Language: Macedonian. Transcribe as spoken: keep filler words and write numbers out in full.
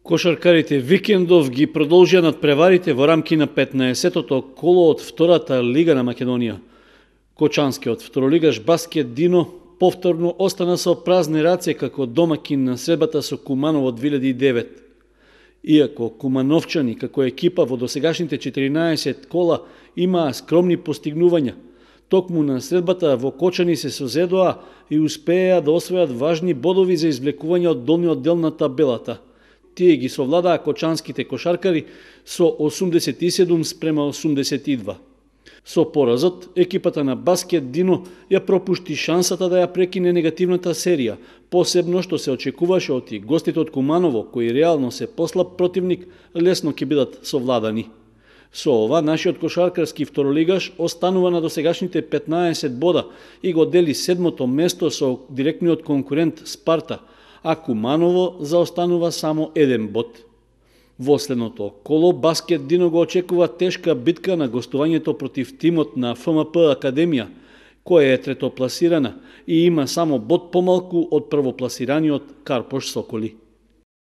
Кошаркарите Викендов ги продолжија надпреварите во рамки на петнаесеттото коло од втората лига на Македонија. Кочанскиот второлигаш Баскет Дино повторно остана со празни раце како домакин на средбата со Куманово две илјади и девет. Иако кумановчани како екипа во досегашните четиринаесет кола имаа скромни постигнувања, токму на средбата во Кочани се созедоа и успеа да освојат важни бодови за извлекување од долниот дел на табелата. Тие ги совладаа кочанските кошаркари со осумдесет и седум спрема осумдесет и два. Со поразот, екипата на Баскет Дино ја пропушти шансата да ја прекине негативната серија, посебно што се очекуваше од и гостите од Куманово, кои реално се послаб противник, лесно ќе бидат совладани. Со ова, нашиот кошаркарски второлигаш останува на досегашните петнаесет бода и го дели седмото место со директниот конкурент Спарта, а Куманово заостанува само еден бод. Во следното коло Баскет Дино го очекува тешка битка на гостувањето против тимот на Ф М П Академија, која е третопласирана и има само бод помалку од првопласираниот Карпош Соколи.